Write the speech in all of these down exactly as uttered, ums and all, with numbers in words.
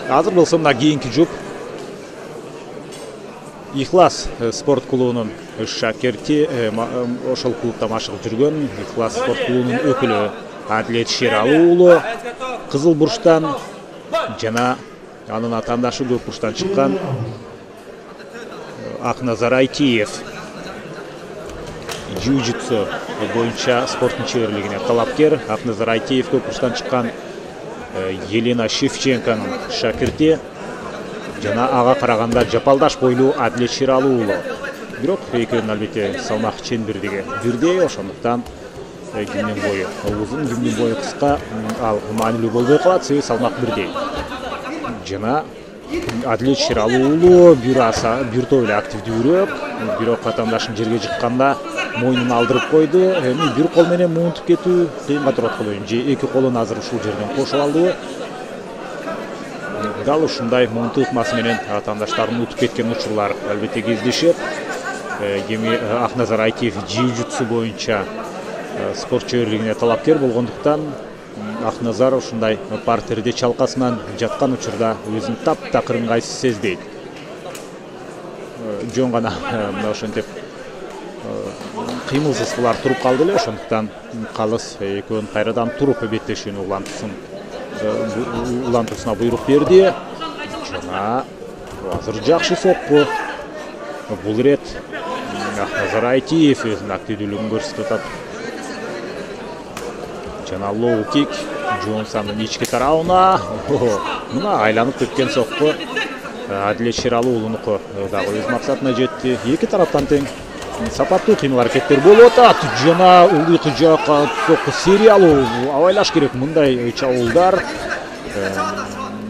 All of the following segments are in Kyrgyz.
Азыр болсо мына кийинки жұп Ихлас спорт клубунун шакирти, ошол клубда машыгып жүргөн Ихлас спорт клубунун өкүлү Адилет Шералы уулу кызыл бурчтан жана анын атаандашы көк бурчтан чыккан Акназар Айтиев джиу-джитсу боюнча спорттун чеберлигине талапкер. Акназар Айтиев көк бурчтан чыккан Елена Шевченконун шакирти жана ага караганда жапалдаш бойлуу Адилет Шералы уулу. Бирок экөөнүн албетте салмак ченбирдиги бирдей, ошондуктан кимдин бою узун, кимдин бою кыска ал маанилүү болбой калат, себеби салмак бирдей. Жана Адилет Шералы уулу бир аса бир топ эле активдүүрөөк, бирок атаандашын жерге жыкканда мойнун алдырып койду. Эми бир кол менен муунтуп кетүү кыйынга турат коеюн, же эки колун азыр ушул жерден кошуп алдыбы. Дал ушундай муунтуу ыкмасы менен атаандаштарын утуп кеткен учурлар албетте кездешет. Эми Акназар Айтиев джиу-джитсу боюнча спорт чеберлигине талапкер болгондуктан Акназар ушундай партерде чалкасынан жаткан учурда өзүн таптакыр ыңгайсыз сезбейт. Жөн гана мына ошентип кыймылсыз булар туруп калды эле, ошондуктан калыс экөөнүн кайрадан туруп беттешүүнү улантсын улантуусуна буйрук берди. Жана азыр жакшы сокку. Бул ирет Акназар Айтиев өзүнүн активдүүлүгүн көрсөтүп атат. Жана лоу кик Джонсондун ички тарабына мына айланып кеткен сокку Адилет Шералы уулунуку дагы өз максатына жетти. Эки тараптан тең сапаттуу кыймыл аракеттер болуп атат. Жана улдуйкы жакка сокку сериялуу абайлаш керек. Мындай чабуулдар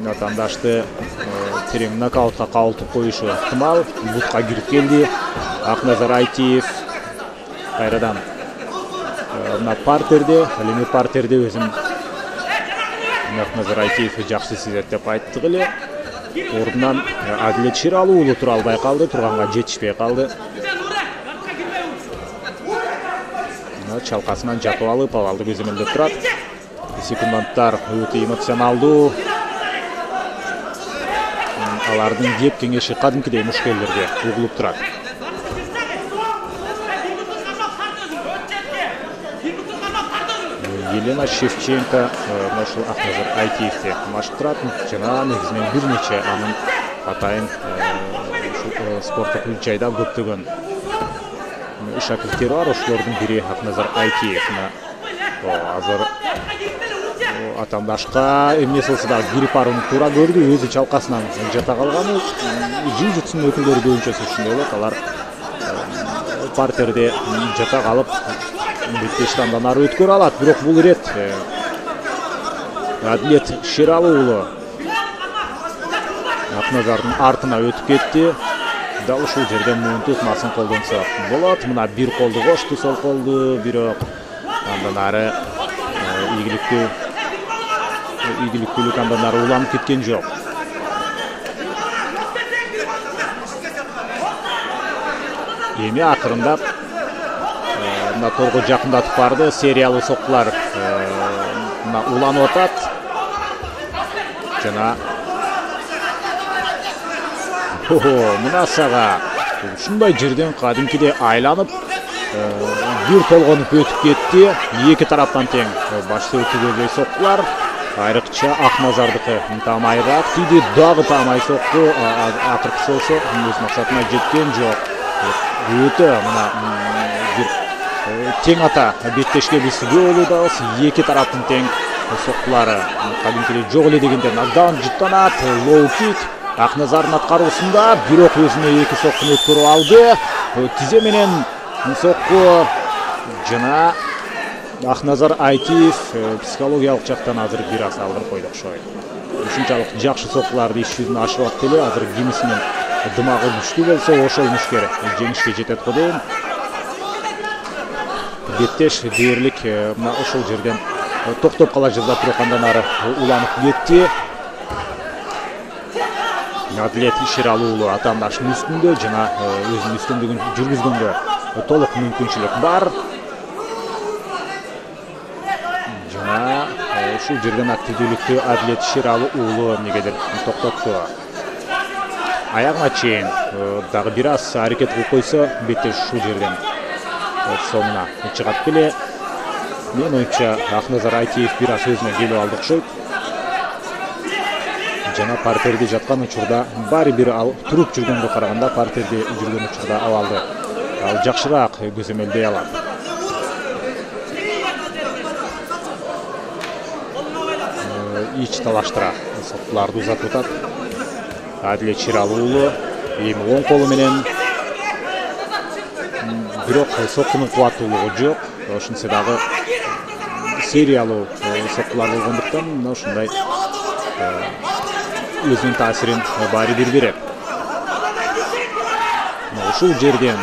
атаандашты терең нокаутка кабылтып коюшу ыктымал. Бутка кирип келди Акназар Айтиев. Кайрадан мына партерде, ал эми партерде өзүн Акназар Айтиев жакшы сезет деп айттык эле. Ордунан Адилет Шералы уулу тура албай калды, турганга жетишпей калды. Чалкасынан жатып алып, абалды көзөмөлдөп турат. Секунданттар өтө эмоционалдуу. Алардын кеп кеңеши кадимкидей мушкелерге угулуп турат. Елена Шевченко ошол Акназар Айтиевди машык турат. Жана негизинен бир нече анын атайын спорттук жайда көптөгөн шакирттери бар. Ошолордун бири Акназар Айтиев. Азыр атаандашка эмне болсо да кирип барууну туура көрдү. Өзү чалкасынан жата калганы джиу-джитсунун өкүлдөрү көбүнчөсү ушундай болот. Алар партерде жата калып беттешти андан ары өткөрө алат. Бирок бул ирет Адилет Шералы уулу Акназардын артына өтүп кетти. Дал ушул жерден муунтуу ыкмасын колдонсо болот. Мына бир колду кошту, сол колду, бирок андан ары ийгиликтүү ийгиликтүүлүк андан ары уланып кеткен жок. Эми акырындап мына торго жакындатып барды. Сериялуу соккулар мына уланып атат. Жана мына сага ушундай жерден кадимкидей айланып бир толгонуп өтүп кетти. Эки тараптан тең баш өтүгөй соккулар. Айрыкча Акназардыкы таамайраак тийди, дагы таамай сокку. Акыркысы болсо өз максатына жеткен жок. Өтө мына бир тең ата беттешке биз болууда. Эки тараптын тең соккулары кадимкидей жок эле дегенде нокдаун жыттанат. Лоу кик Акназардын аткаруусунда, бирок өзүнө эки соккуну өткөрүп алды. Тизе менен сокку жана Акназар Айтиев психологиялык жактан азыр бир аз алдырып койду окшойт. Ушунчалык жакшы соккуларды иш жүзүнө ашырып атты эле. Азыр кимисинин дымагы күчтүү болсо ошол мушкер жеңишке жетет го дейм. Беттеш дээрлик мына ошол жерден токтоп кала жаздап, бирок андан ары уланып кетти. Адилет Шералы уулу атаандашынын үстүндө жана өзүнүн үстүндүгүн жүргүзгөнгө толук мүмкүнчүлүк бар. Жана ушул жерден активдүүлүктү Адилет Шералы уулу эмнегедир токтотту. Аягына чейин дагы бир аз аракет кылып койсо, беттеш ушул жерден соңуна чыгат беле. Мен оюнча Акназар Айтиев бир аз өзүнө келип алды окшойт. Жана партерде жаткан учурда баары бир ал туруп жүргөнгө караганда партерде жүргөн учурда абалды ал жакшыраак көзөмөлдөй алат. Ич талаштыра соттуларды узатып атат. Адилет Шералы уулу эми оң колу менен, бирок соктунун кубаттуулугу жок. Ошентсе дагы сериялуу соктулар болгондуктан мына ушундай өзүнүн таасирин баары бир берет. Ушул жерден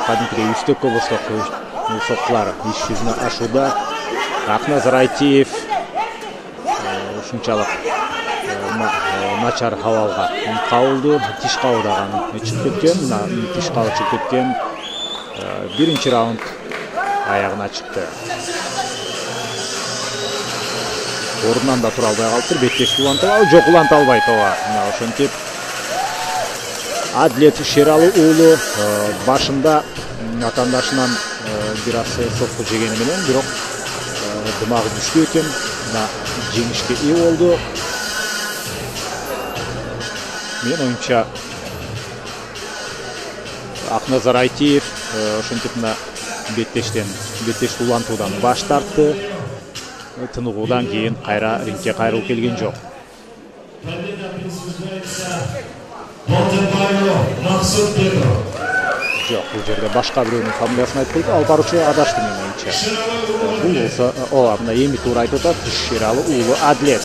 кадимкидей үстөккө босток соктулар иш жүзүнө ашууда. Акназар Айтиев ушунчалык начар абалга кабылды, тиш кабы дагы чыгып кеткен, тиш кабы чыгып кеткен. Биринчи раунд аягына чыкты. Ордунан да тура албай калыптыр. Беттешти улантып алып, жок уланта албайт ооба. Мына ошентип Адилет Шералы уулу башында атаандашынан бир аз сокку жегени менен, бирок дымагы күчтүү экен. Мына жеңишке ээ болду. Мен оюнча Акназар Айтиев ошентип мына беттештен, беттешти улантуудан баш тартты. Тыныгуудан кийин кайра рингке кайрылып келген жок. Жок, бул жерде башка бирөөнүн фамилиясын айтып койду. Ал баруучу адашты мен оюнча. Бул болсо, ооба, мына эми туура айтып атат. Шералы уулу Адилет.